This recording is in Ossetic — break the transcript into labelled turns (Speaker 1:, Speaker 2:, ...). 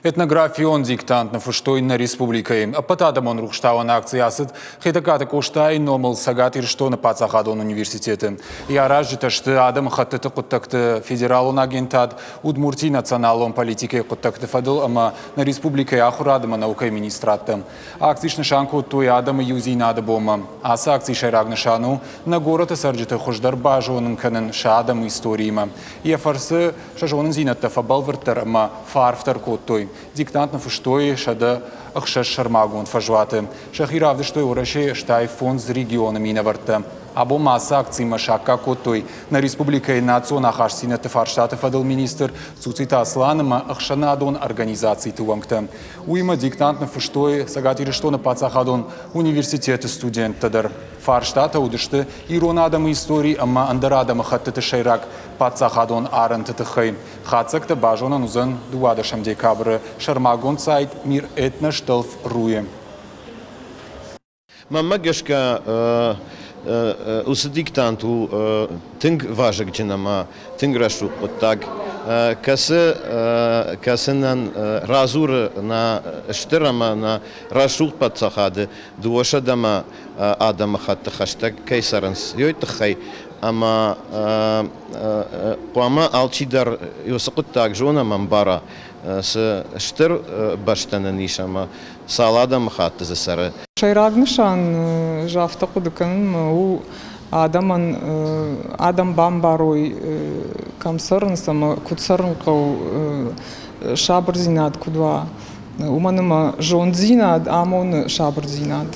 Speaker 1: Этнографион диктант ныффыстой нӕ республикӕйы. Ӕппӕтадӕмон рухстауӕн акци ацыд Хетӕгкаты Къостайы номыл Цӕгат Ирыстоны паддзахадон университеты. Йӕ аразджытӕ сты адӕмыхӕттыты хъуыддӕгты федералон агентад, Удмуртийы националон политикӕйы хъуыддӕгты фӕдыл ӕмӕ нӕ республикӕйы ахуырад ӕмӕ наукӕйы министрадтӕ. Акци снысан кодтой адӕмы иудзинады бонмӕ. Ацы акцийы сӕйраг нысан у нӕ горӕты цӕрджыты хуыздӕр базонын кӕнын сӕ адӕмы историимӕ. Йӕ фӕрцы сӕ зонындзинӕдтӕ фӕбӕлвырддӕр ӕмӕ фӕарфдӕр кодтой. Диктант ныффыстой 106 сӕрмагонд фӕзуаты. Сӕхи равдыстой Уӕрӕсейы стӕй фондз регионы минӕвӕрттӕ. Абон ма ацы акцимӕ саккаг кодтой нӕ республикӕйы национ ахастдзинӕдты фарстаты фӕдыл министр Цуциты Аслан ӕмӕ ӕхсӕнадон организациты уӕнгтӕ. Уыимӕ диктант ныффыстой Цӕгат Ирыстоны паддзахадон университеты студенттӕ дӕр. Фарстатӕ уыдысты ирон адӕмы истори ӕмӕ ӕндӕр адӕмыхӕттыты сӕйраг паддзахадон арӕнты тыххӕй. Хатдзӕгтӕ базонӕн уыдзӕн 12 декабры сӕрмагонд сайт Мир этностелф.ру-йы.
Speaker 2: Мӕнмӕ гӕсгӕ, уыцы диктант у тынг вазыгджын ӕмӕ тынг рӕсугъд хъуыддаг, кӕцы, кӕцынӕн радзуры нӕ стыр ӕмӕ нӕ рӕсугъд паддзахады дыууӕсӕдӕмӕ адӕмыхатты хӕстӕг кӕй цӕрынц, уый тыххӕй ӕмӕ хъуамӕ алчидӕр уыцы хъуыддаг зона ӕмӕ ӕмбара, цы стыр бӕстӕ нын ис ӕмӕ цал адӕмыхатты дзы цӕры.
Speaker 3: Сӕйраг нысан ӕз афтӕ хъуыды кӕнын у адӕмӕн адӕм бамбарой, кӕм цӕрынц ӕмӕ куыд цӕрын хъӕуы, сабырдзинад куыд уа. Уымӕн ӕмӕ зонддзинад амоны сабырдзинад.